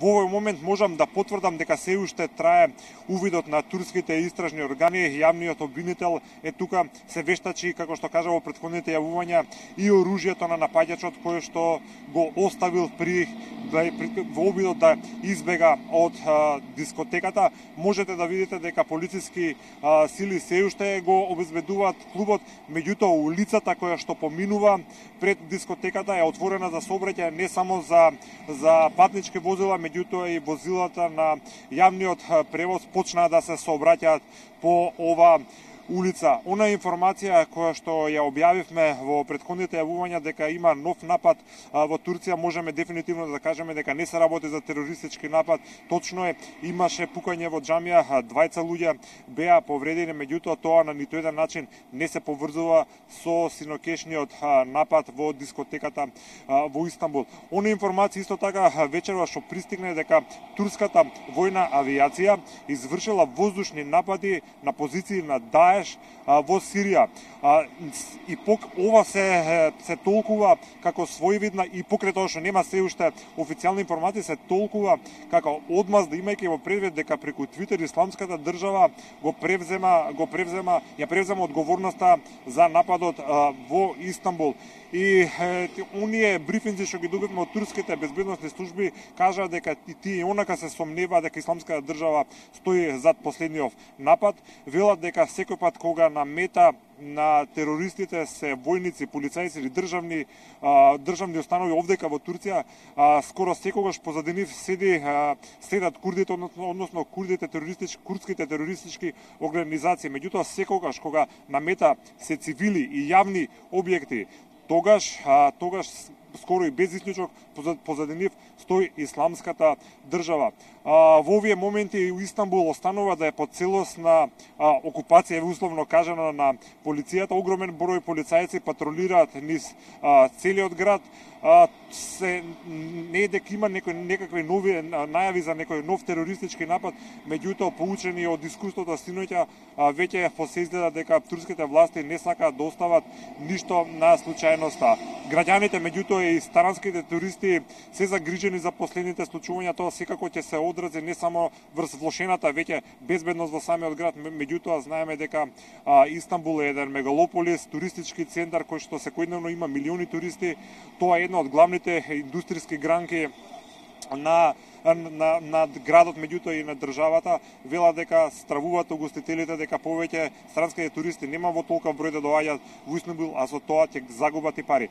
Во овој момент можам да потврдам дека се уште трае увидот на турските истражни органи. Јавниот обвинител е тука, се вештачи, како што кажа во претходните јавувања, и оружјето на напаѓачот кој што го оставил во обидот да избега од дискотеката. Можете да видите дека полициски сили се уште го обезбедуваат клубот, меѓутоа улицата која што поминува пред дискотеката е отворена за сообраќај не само за патнички возила, меѓутоа и возилата на јавниот превоз почнаа да се сообраќаат по ова улица. Она информација која што ја објавивме во претходните јавувања дека има нов напад во Турција, можеме дефинитивно да кажеме дека не се работи за терористички напад. Точно е, имаше пукање во џамија, 2 луѓе беа повредени, меѓутоа тоа на ниту еден начин не се поврзува со синокешниот напад во дискотеката во Истанбул. Она информација исто така вечерва што пристигне дека турската војна авиација извршила воздушни напади на позиции на Даеш во Сирија. И ова се толкува како своевидна, и покрај тоа што нема се уште официјални информации, се толкува како одмазда, имајќи во предвид дека преку Твитер Исламската држава ја превзема одговорноста за нападот во Истанбул. И оние брифинзи што ги добивме од турските безбедносни служби кажаа дека и тие онака се сомневаат дека Исламската држава стои зад последниот напад. Велат дека секој пат кога на мета на терористите се војници, полицајци или државни установи овдека во Турција, скоро секогаш позади нив следат курдите, односно курдските терористички организации. Меѓутоа секогаш кога на мета се цивили и јавни објекти, тогаш скоро и без исклучок позади нив стои Исламската држава. Во овие моменти у Истанбул останува да е под целосна окупација, условно кажано, на полицијата. Огромен број полицајци патролираат низ целиот град. Не е дека има некакви нови најави за некој нов терористички напад, меѓутоа поучени од искуството синоќа веќе се изгледа дека турските власти не сакаат да остават ништо на случајноста. Граѓаните, меѓутоа и старанските туристи се загрижени за последните случувања. Тоа секако ќе се одрази не само врз влошената веќе безбедност во самиот град, меѓутоа знаеме дека Истанбул е еден мегалополис, туристички центар кој што секојдневно има милиони туристи. Тоа е една од главните индустријски гранки на градот, меѓутоа и на државата. Вела дека стравуваат угостителите дека повеќе странските туристи нема во толков број да доаѓаат во Истанбул, а со тоа ќе загубат и пари.